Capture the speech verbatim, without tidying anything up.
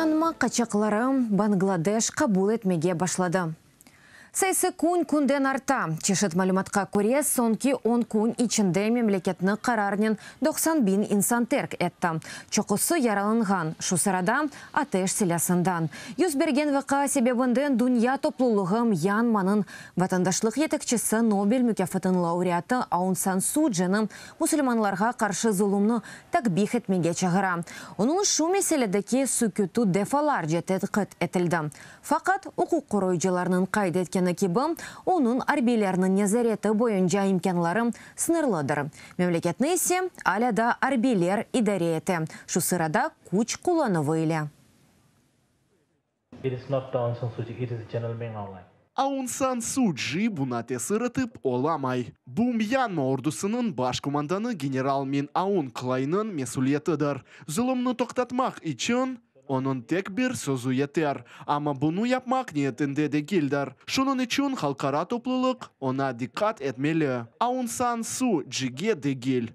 Myanma qaçaqları Bangladeş qabul etmege başladı. Sayısı kün künden arta. Çeşit malümatqa köre, soñki on kün içinde memleketni qararnen doqsan biñ insan terk etti. Çoqusı yaralanğan, şu sırada ateş silâsından. Yüz bergen vaqia sebebinden dünya toplulığı Myanmanıñ vatandaşlıq yetekçisi, Nobel mukâfatınıñ laureatı Aun San Sucini musulmanlarğa qarşı zulumnı takbih etmege çağıra. Onıñ şu meseledeki süküti defalarca tenqit etildi. Faqat, uquq qoruyıcılarnıñ qayd etkeni kibi, onıñ arbiylerniñ nezareti boyunca imkânları sıñırlıdır. Memleketni ise alâ da arbiyler idare ete, şu sırada küç qullanuvı ile. It is not Aung San Suu Kyi, it is General Min Aung Hlaing. Aun San Su Ci buña tesir etip olamay. Bu Myanma ordusınıñ baş komandanı general Min Aung Hlaynıñ mesüliyetidir. Zulumnı toqtatmaq içün onıñ tek bir sözü yeter. Amma bunı yapmaq niyetinde degildir. Şunıñ içün halqara toplulıq oña diqqat etmeli. Aun San Su Cige degil.